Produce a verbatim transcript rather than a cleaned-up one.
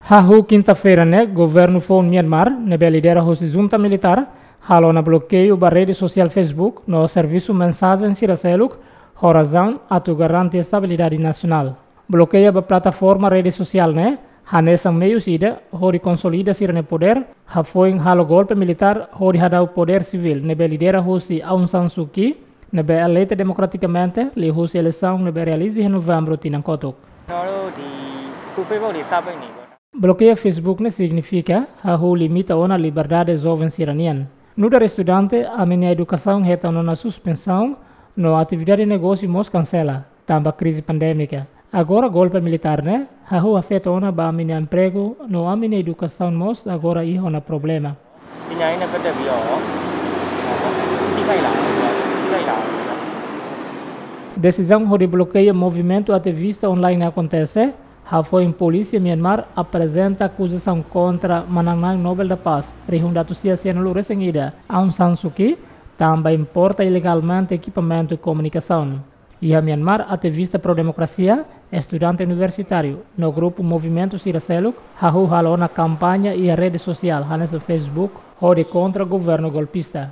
Hahú kinta-feira ne'e, governu foun Myanmar, ne'ebé lidera husi junta militár, halo ona blokeiu ba rede sosiál Facebook no servisu mensajen sira seluk, ho razaun atu garante estabilidade nasionál. Blokeiu ba plataforma rede sosiál ne'e hanesan meius ida hodi konsolida sira-nia podér, hafoin halo golpe militár hodi hadau podér sivíl ne'ebé lidera husi Aung San Suu Kyi, ne'ebé eleita demokratikamente liuhusi eleisaun ne'ebé realiza iha Novembru tinan kotuk. Blokeiu Facebook ne'e signifika hahú limita ona liberdade joven sira-nian. Nu'udar estudante, ami-nia edukasaun hetan ona suspensaun, no atividade negósiu mós kansela, tanba krize pandémika. Agora golpe militár ne'e, hahú afeta ona ba ami-nia empregu, no ami-nia edukasaun mós agora iha ona problema. Desizaun hodi blokeiu movimentu ativista online akontese, hafoin polísia Myanmar aprezenta akuzasaun kontra manán-na'in Nobel da Paz, rihun ida atus sia sianulu resin ida, Aung San Suu Kyi, tanba importa ilegalmente ekipamentu komunikasaun. Iha Myanmar, ativista pro-demokrasia, estudante universitáriu, no grupu movimentu sira seluk, hahú halo ona kampaña iha rede sosiál, hanesan Facebook, hodi kontra governu golpista.